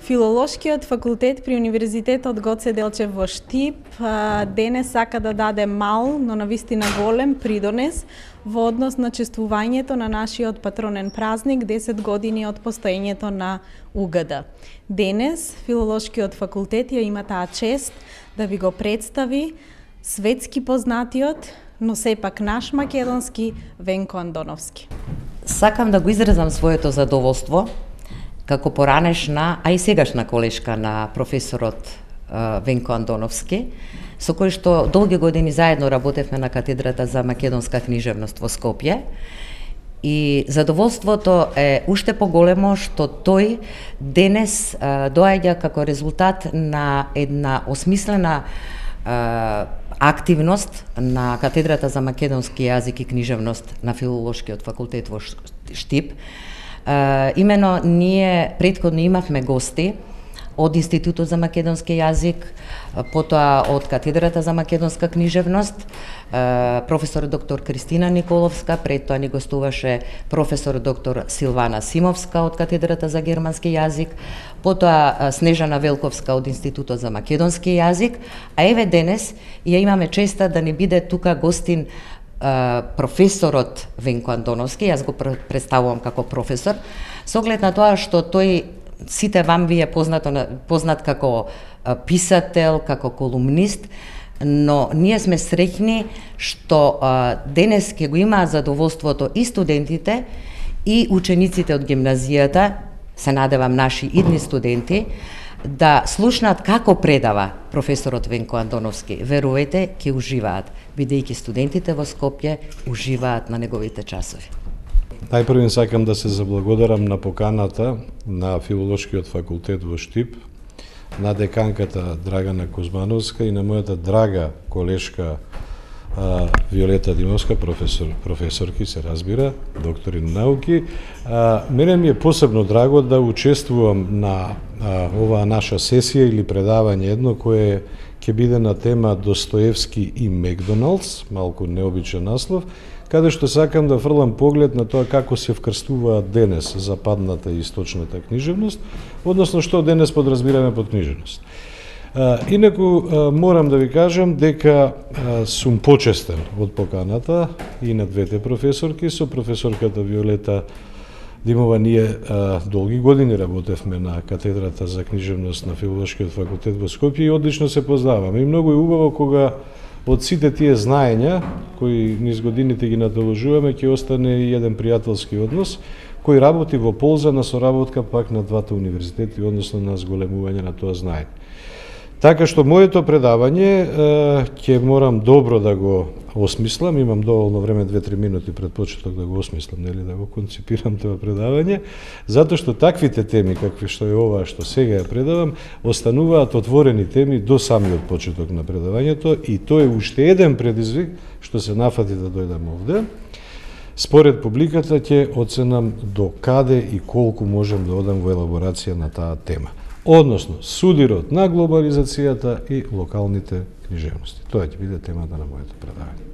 Филолошкиот факултет при Универзитетот Гоце Делчев во Штип денес сака да даде мал, но навистина голем придонес во однос на чествувањето на нашиот патронен празник 10 години од постоењето на УГД. Денес Филолошкиот факултет ја има таа чест да ви го представи светски познатиот, но сепак наш македонски Венко Андоновски. Сакам да го изразам своето задоволство како поранешна, а и сегашна колешка на професорот Венко Андоновски, со кој што долги години заедно работевме на катедрата за македонска книжевност во Скопје. И задоволството е уште поголемо што тој денес доаѓа како резултат на една осмислена активност на катедрата за македонски јазик и книжевност на Филолошкиот факултет во Штип. Имено ние претходно имавме гости од Институтот за македонски јазик, потоа од катедрата за македонска книжевност, професор доктор Кристина Николовска, пред тоа ни гостуваше професор доктор Силвана Симовска од катедрата за германски јазик, потоа Снежана Велковска од Институтот за македонски јазик, а еве денес ја имаме честа да ни биде тука гостин професорот Венко Андоновски. Јас го представувам како професор, со оглед на тоа што тој сите вам ви е познат како писател, како колумнист, но ние сме среќни што денес ќе го имаат задоволството и студентите и учениците од гимназијата, се надевам наши идни студенти, да слушнат како предава професорот Венко Андоновски. Верувајте, ќе уживаат, бидејќи студентите во Скопје уживаат на неговите часови. Најпрвен сакам да се заблагодарам на поканата на Филолошкиот факултет во Штип, на деканката Драгана Кузмановска и на мојата драга колешка Виолета Димовска, професорки се разбира, доктори на науки. Мене ми е посебно драго да учествувам на оваа наша сесија или предавање едно кое ќе биде на тема Достоевски и Макдоналдс, малку необичен наслов, каде што сакам да фрлам поглед на тоа како се вкрстуваат денес западната и источната книжевност, односно што денес подразбираме под книжевност. Инаку морам да ви кажам дека сум почестен од поканата и на двете професорки, со професорката Виолета Димова. Ние долги години работевме на катедрата за книжевност на Филолошкиот факултет во Скопје и одлично се познаваме. И многу е убаво кога од сите тие знаења кои низ годините ги надоложуваме ќе остане и еден пријателски однос кој работи во полза на соработка пак на двата универзитети, односно на зголемување на тоа знаење. Така што моето предавање ќе морам добро да го осмислам, имам доволно време 2-3 минути пред почеток да го осмислам, нели, да го концепирам тоа предавање, затоа што таквите теми какви што е ова што сега ја предавам, остануваат отворени теми до самиот почеток на предавањето и тоа е уште еден предизвик што се нафати да дојдам овде. Според публиката ќе оценам до каде и колку можам да одам во елаборација на таа тема. Односно, судирот на глобализацијата и локалните книжевности. Тоа ќе биде темата на моето предавање.